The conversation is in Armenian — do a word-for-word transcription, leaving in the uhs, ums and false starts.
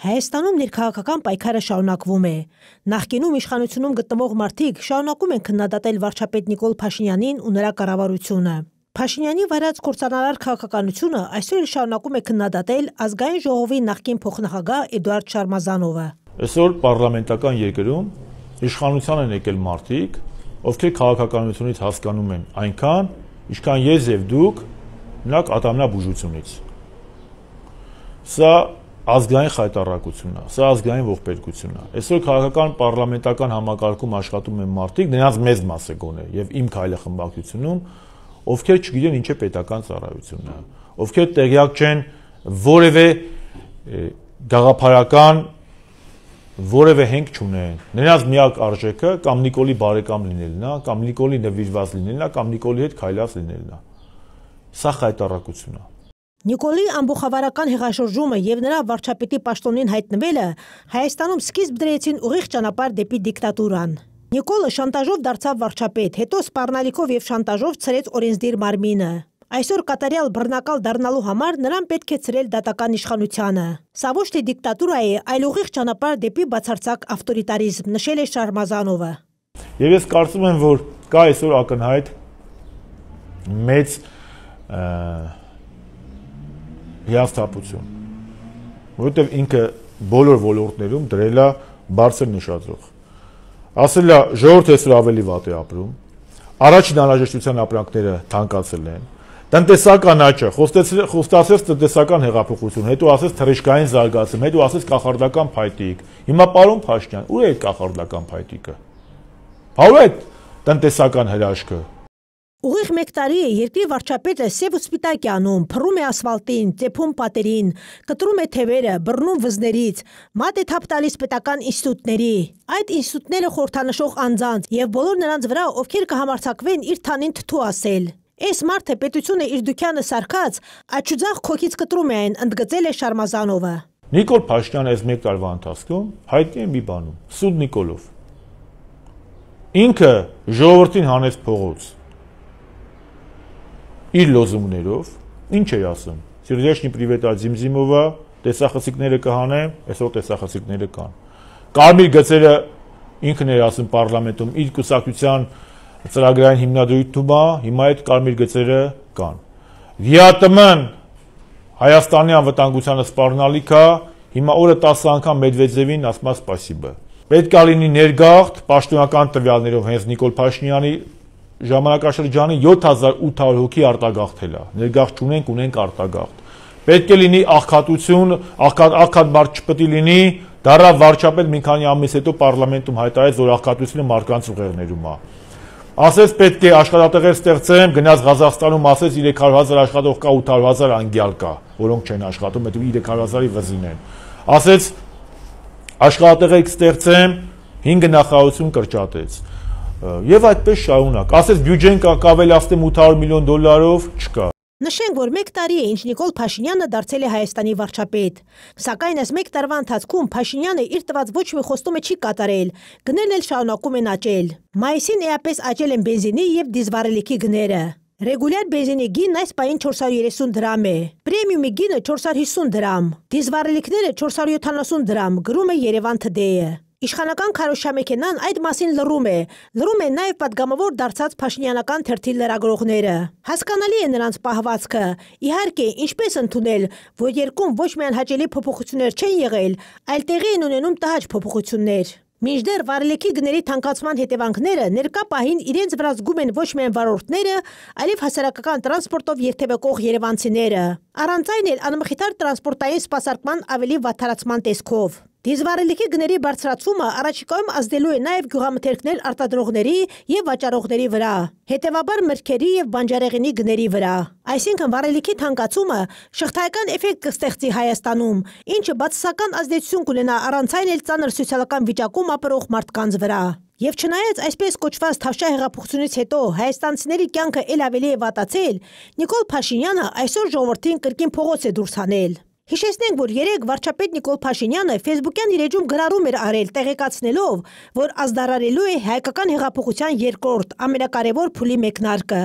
Հայաստանում ներքաղաքական պայքարը շարունակվում է։ Նախկինում իշխանությունում գտնվող մարդիկ շարունակում են քննադատել վարչապետ Նիկոլ Փաշինյանին ու նրա կառավարությունը։ Փաշինյանի վարած կործանարար քաղաքականությունը այսօր շարունակում է քննադատել Ազգային ժողովի նախկին փոխնախագահ Էդուարդ Շարմազանովը։ Այսօր պարլամենտական երկրում իշխանության են եկել մարդիկ, ովքեր քաղաքականությունից հասկանում են այնքան, ինչքան ես եւ դուք մնաք ատամնաբուժությունից։ Սա ազգային խայտառակությունն է, սա ազգային ողբերգությունն է։ Այսօր քաղաքական պարլամենտական համակարգում աշխատում են մարդիկ, նրանց մեծ մասը գոնե եւ իմ քայլը խմբակցությունում, ովքեր չգիտեն ինչ է պետական ծառայությունն է, ովքեր տեղյակ չեն որևէ գաղափարական որևէ հենք չունեն։ Նրանց միակ արժեքը կամ Նիկոլի բարեկամ լինելն է, կամ Նիկոլի նվիրված լինելն է, կամ Նիկոլի հետ քայլած լինելն է։ Սա խայտառակություն է։ Նիկոլի ամբողջավարական հեղաշրջումը եւ նրա վարչապետի պաշտոնին հայտնվելը Հայաստանում սկիզբ դրեցին ուղիղ ճանապարհ դեպի դիկտատուրան։ Նիկոլը շանտաժով դարձավ վարչապետ, հետո սպառնալիքով եւ շանտաժով ցրեց օրենսդիր մարմինը։ Այսօր կատարյալ բռնակալ դառնալու համար նրան պետք է ցրել դատական իշխանությանը։ Սա ոչ թե դիկտատուրա է, այլ ուղիղ ճանապարհ դեպի բացարձակ ավտորիտարիզմ, նշել է Շարմազանովը։ Եվ ես կարծում եմ, որ կա այսօր ակնհայտ մեծ հիասթափություն, որովհետև ինքը բոլոր ոլորտներում դրել է բարձր նշաձող։ Ասել է ժողովուրդը այսօր ավելի վատ է ապրում, առաջին անհրաժեշտության ապրանքները թանկացել են, տնտեսական աճը, խոստացեց տնտեսական հեղափոխություն, հետո ասեց թռիչքային զարգացում, հետո ասեց կախարդական փայտիկ։ Հիմա պարոն Փաշինյան, ուր է այդ կախարդական փայտիկը։ Բա ուր է այդ տնտեսական հրաշքը։ Ուղիղ մեկ տարի է երկրի վարչապետը սև ու սպիտակ է անում, փռում է ասֆալտին, ծեփում պատերին, կտրում է թևերը, բռնում վզներից, մատ է թափ տալիս պետական ինստիտուտների, այդ ինստիտուտները խորհրդանշող անձանց եւ բոլոր նրանց վրա, ովքեր կհամարձակվեն իր թանին թթու ասել։ Այս մարդը պետությունը իր դուքյանը սարքած, աչուձախ քոքից կտրում է այն, ընդգծել է Շարմազանովը։ Նիկոլ Փաշինյանը այս մեկ տարվա ընթացքում հայտնի է մի բանում՝ Սուտ Նիկոլով։ Ինքը ժողովրդին հանեց փողոց իր լոզունգներով, ինչ է ասում, Սերժեյ պրիվետա Զիմզիմովա, տեսախցիկները կհանեմ, այսօր տեսախցիկները կան։ Կարմիր գծերը ինքն էր ասում պարլամենտում, իր կուսակցության ծրագրային հիմնադրույթում է, հիմա այդ կարմիր գծերը կան։ ՎԻԱՏՄ-ն Հայաստանի անվտանգությանը սպառնալիք է, հիմա օրը տասը անգամ Մեդվեդևին ասում է սպասիբը։ Պետք է լինի ներգաղթ, պաշտոնական տվյալներով հենց Նիկոլ Փաշինյանի ժամանակաշրջանի յոթ հազար ութ հարյուր հոգի արտագաղթել է, ներգաղթ չունենք, ունենք արտագաղթ։ Պետք է լինի աղքատություն, աղքատ մարդ չպետք է լինի, դառա վարչապետ մի քանի ամիս հետո պարլամենտում հայտարարեց, որ աղքատությունը մարդկանց ուղեղներում է։ Ասեց պետք է աշխատատեղեր ստեղծեմ, գնաց Ղազախստանում ասեց երեք հարյուր հազար աշխատող կա, ութ հարյուր հազար անգյալ կա, որոնք չեն աշխատում, հետո երեք հարյուր հազարի վզին են։ Ասեց աշխատատեղեր կստեղծեմ, հինգ նախարարություն կրճատեց։ Եվ այդպես շարունակ, ասես բյուջեն կավելացնեմ ութ հարյուր միլիոն դոլարով, չկա։ Նշենք, որ մեկ տարի է, ինչ Նիկոլ Փաշինյանը դարձել է Հայաստանի վարչապետ։ Սակայն այս մեկ տարվա ընթացքում Փաշինյանը իր տված ոչ մի խոստումը չի կատարել, գներն էլ շարունակում են աճել։ Մայիսին էապես աճել են բենզինի եւ դիզվառելիքի գները։ Ռեգուլյար բենզինի գինն այս պահին չորս հարյուր երեսուն դրամ է, պրեմիումի գինը չորս հարյուր հիսուն դրամ, դիզվառելիքները չորս հարյուր յոթանասուն դրամ, գրում է Երևան Today-ը։ Իշխանական քարոզչամեքենան այդ մասին լռում է, լռում են նաև պատգամավոր դարձած փաշինյանական թերթի լրագրողները։ Հասկանալի է նրանց պահվածքը։ Իհարկե, ինչպես ընդունել, որ երկում ոչ միայն հաճելի փոփոխություններ չեն եղել, այլ տեղի են ունենում տհաճ փոփոխություններ։ Մինչդեռ վառելիքի գների թանկացման հետևանքները ներկա պահին իրենց վրա զգում են ոչ միայն վարորդները, այլև հասարակական տրանսպորտով երթևեկող երևանցիները։ Առանց այն էլ անմխիթար տրանսպորտային սպասարկման ավելի վատթարացման տեսքով։ Դիզվառելիքի գների բարձրացումը առաջիկայում ազդելու է նաև գյուղամթերքներ արտադրողների եւ վաճառողների վրա, հետեւաբար մրգերի եւ բանջարեղենի գների վրա։ Այսինքն վառելիքի թանկացումը շղթայական էֆեկտ կստեղծի Հայաստանում, ինչը բացասական ազդեցություն կունենա առանց այն էլ ծանր սոցիալական վիճակում ապրող մարդկանց վրա։ Եվ չնայած այսպես կոչված Թավշյա հեղափոխությունից հետո հայաստանցիների կյանքը ել ավելի է վատացել, Նիկոլ Փաշինյանը այսօր ժողովրդին կրկին փողոց է դուրս հանել։ Հիշեցնենք, որ երեկ վարչապետ Նիկոլ Փաշինյանը ֆեյսբուքյան իր էջում գրառում էր արել, տեղեկացնելով, որ ազդարարելու է հայկական հեղափոխության երկրորդ ամենակարևոր փուլի մեկնարկը։